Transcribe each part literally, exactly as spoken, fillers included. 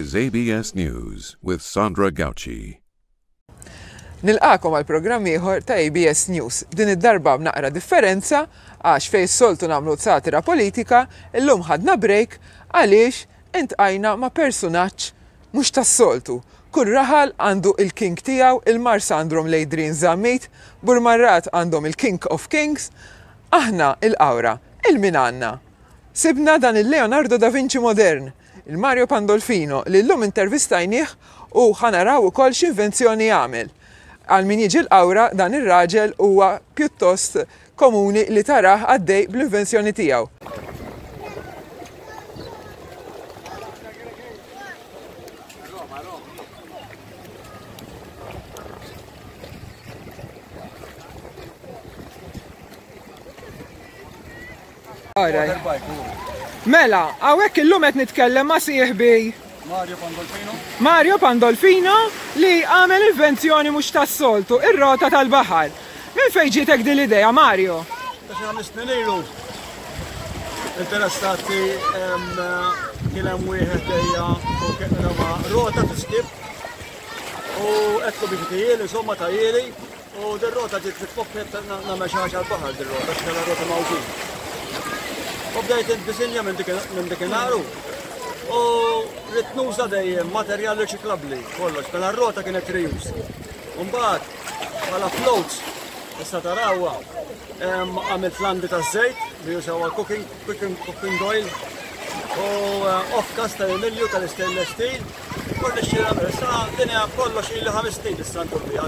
is A B S News with Sandra Gauci. Nilqagħkom għal programm ieħor ta' A B S News. Din id-darba b'naqra differenza, għax fejn soltu nagħmlu satira politika, illum ħadna break għaliex iltqajna ma' personaġġ mhux tas-soltu. Kull raħal għandu il-king tiegħu, il-Marsa għandhom l-Adrian Zammit, Burmarrad għandhom il-King of Kings, aħna il-Qawra, lil min għandna? Sibna dan il-Leonardo da Vinci modern, il-Mario Pandolfino, li llum intervistajnieh u ħa naraw ukoll x'invenzjoni għamel. Għal min jiġi l-Qawra, dan ir-raġel huwa pjuttost komuni li tarah għaddej bl-invenzjoni tiegħu. Alright. Mela, hawnhekk illum qed nitkellem ma' sieħbi Mario Pandolfino. Mario Pandolfino, li għamel invenzjoni mhux tas-soltu, ir-rota tal-baħar. Minn fejn ġietek din l-idea, Mario? Ta' xi ħames snin ilu. Interessati kien hemm wieħed ejja u kien ma' rota tiskip u għedtlu biex tagħmilhieli, insomma tagħmilhieli, u dir-rota ġiet fit-pocket, nagħmel xi ħaġa għall-baħar dir-rota, x'kellha rota mawġin. U bdejt id-disinja minn dik u ridt nuża dejjem materjal riċiklabbli kollox, mela r-rota kienet reuse. Mbagħad bħala floats issa tarawha, għamilt landi ta' żejt li jużaw għal cooking, cooking, cooking oil u eh, off-cast ta' Emilju tal-stainless steel. Kolli xira issa dinja kollox ili ħames snin issa ndur biha.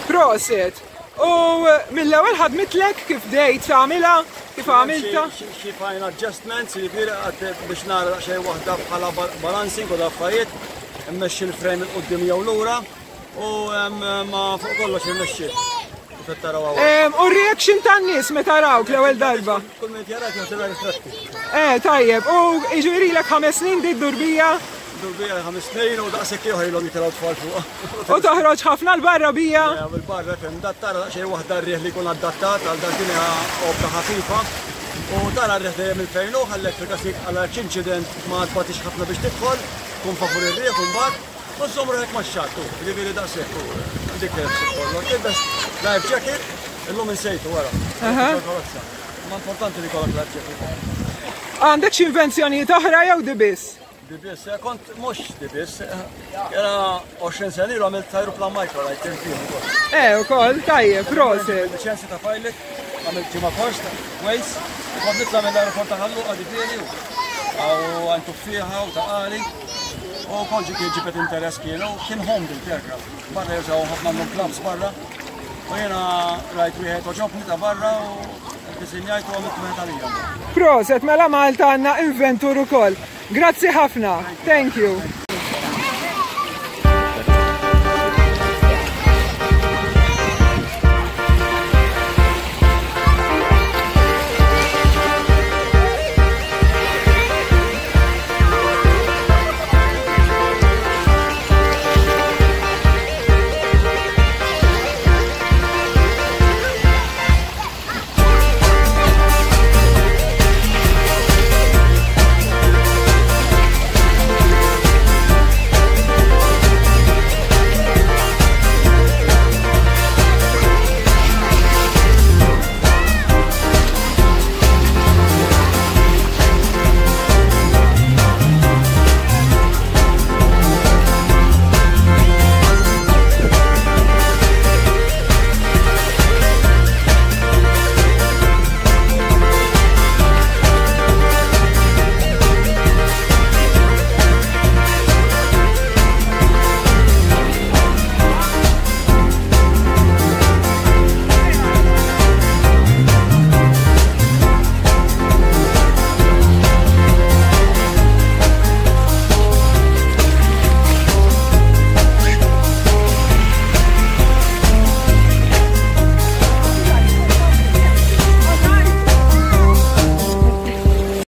Prosit! U mill-ewwel ħadmitlek kif bdejt tagħmilha, kif għamilta? Xi xi fine adjustments, jiġifieri għad biex nara xejn waħda bħala balancing u affarijiet, immexxi l-frame 'il quddiem jew lura u em, ma fuq kollox irnexxiet. Kif taraw hawn. Em, U reaction tan-nies meta rawk l-ewwel darba? Kull min jarak jaħseb ritratti. Eh, tajjeb, u jiġifieri lek ħames snin di d-durbija Durbija ħames snin u daqshekk ieħor ilhom jitilgħu tfal fuqha. U toħroġ ħafna 'l barra bija. Bil-barra fem, dat tara daqsxejn waħda r-riħ li jkun adattat għal dak, din hija opra ħafifa. U tara r-riħ dejjem il-fejn hu, ħallek fil-każ għal incident ma tbatix ħafna biex tidħol, tkun favur ir-riħ u mbagħad u żomm ruħek max-xatt, jiġifieri daqshekk u dik kollox. Tilbes life jacket, illum insejtu wara. Karozza. Ma importanti li jkollok life jacket. Għandek xi invenzjonijiet oħra jew di biss? Di biss, eh, kont mhux di biss, era għoxrin sena ilu għamilt aeroplan microlight fih ukoll. Eh, ukoll, tajjeb, prosit. Liċenzja ta' pilot, għamilt ġimgħa kors ta' Waze, u kont nitla' mill-aeroport ta' Ħal Luqa ġifieri u għan tuffieħa u ta' qali. U kol ġi kien ġibet interess kienu, kien home built aircraft. Barra jużaw ħafna, għandhom clubs barra. U jena rajt wieħed għoġobni ta' barra u disinjajt u għamilt wieħed għalija. Prosit, mela Malta għandna inventur ukoll. Grazzi ħafna. Thank you.